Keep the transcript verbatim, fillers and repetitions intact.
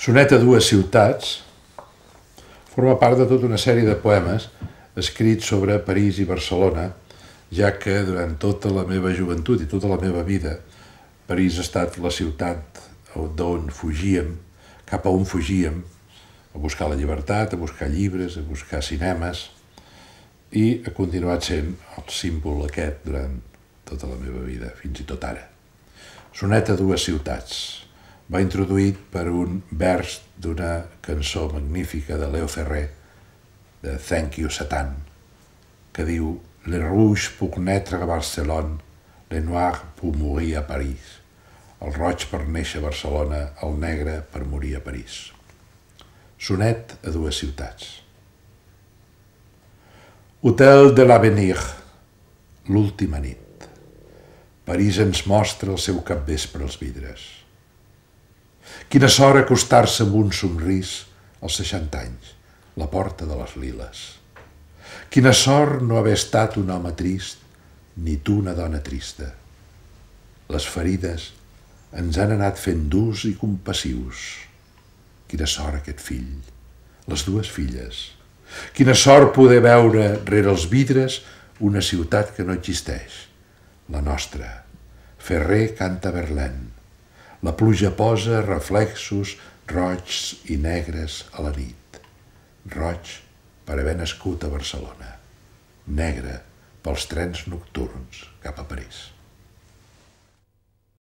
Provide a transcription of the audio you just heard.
Sonet a dues ciutats forma part de tota una sèrie de poemes escrits sobre París i Barcelona, ja que durant tota la meva joventut i tota la meva vida París ha estat la ciutat d'on fugíem, cap a on fugíem, a buscar la llibertat, a buscar llibres, a buscar cinemes, i ha continuat sent el símbol aquest durant tota la meva vida, fins i tot ara. Sonet a dues ciutats. Va introduït per un vers d'una cançó magnífica de Léo Ferré, de Thank You Satan, que diu «Le rouge pour naître a Barcelone, le noir pour mourir a París». El roig per néixer a Barcelona, el negre per morir a París. Sonet a dues ciutats. Hôtel de l'Avenir, l'última nit. París ens mostra el seu capvespre als vidres. Quina sort acostar-se amb un somrís als seixanta anys, la porta de les liles. Quina sort no haver estat un home trist, ni tu una dona trista. Les ferides ens han anat fent durs i compassius. Quina sort aquest fill, les dues filles. Quina sort poder veure rere els vidres una ciutat que no existeix, la nostra. Ferrer canta Verlaine. La pluja posa reflexos roigs i negres a la nit. Roig per haver nascut a Barcelona. Negre pels trens nocturns cap a París.